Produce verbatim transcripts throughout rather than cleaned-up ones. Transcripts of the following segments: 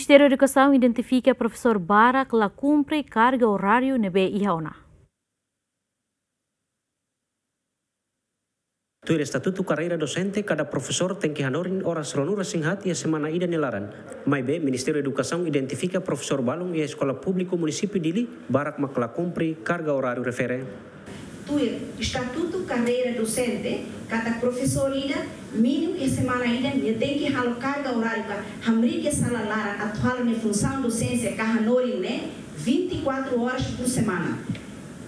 Ministériu Edukasaun identifika profesór barak la kumpre karga oráriu ne'ebé iha ona. Tuir estatutu karreira dosente, kada profesór tenke hanorin oras ruanulu-resin-haat iha semana ida nia laran. Maibé, Ministériu Edukasaun identifika profesór balun iha eskola públiku munisípiu Dili barak mak la kumpre karga oráriu refere. Tuir estatutu karreira dosente, kada profesór ida, mínimu iha semana ida, nia tenke halo karga oráriu ka hamriik iha sala laran atu halo nia funsaun dosénsia ka hanorin ne'e vinte e quatro horas por semana.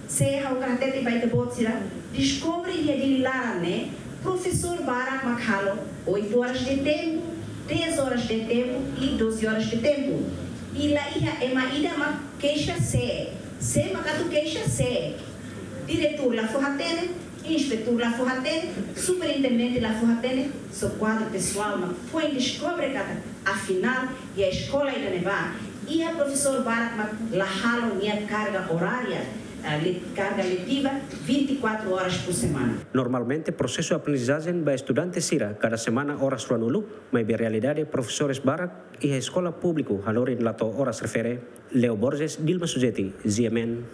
Se ha'u hakarak hatete ba ita-boot sira, deskobre iha Dili laran ne'e, profesór barak mak halo oito horas de tempo, dez horas de tempo e doze horas de tempo. I la iha ema ida mak keixa sé, sé mak atu keixa sé. Diretór la fó-hatene, inspetór la fó-hatene, superintendente la fó-hatene, só kuadru pesoál mak foin deskobre katak, afinál, iha eskola ida-ne'ebá iha profesór barak mak la halo nia karga orária, ah, le-, karga letiva vinte e quatro horas por semana. Normalmente, prosesu aprendizajen ba estudante sira kada semana oras ruanulu, maibé realidade profesores barak iha eskola públiku hanorin la to'o oras refere. Leo Borges, Dilma Sujeti, G M N.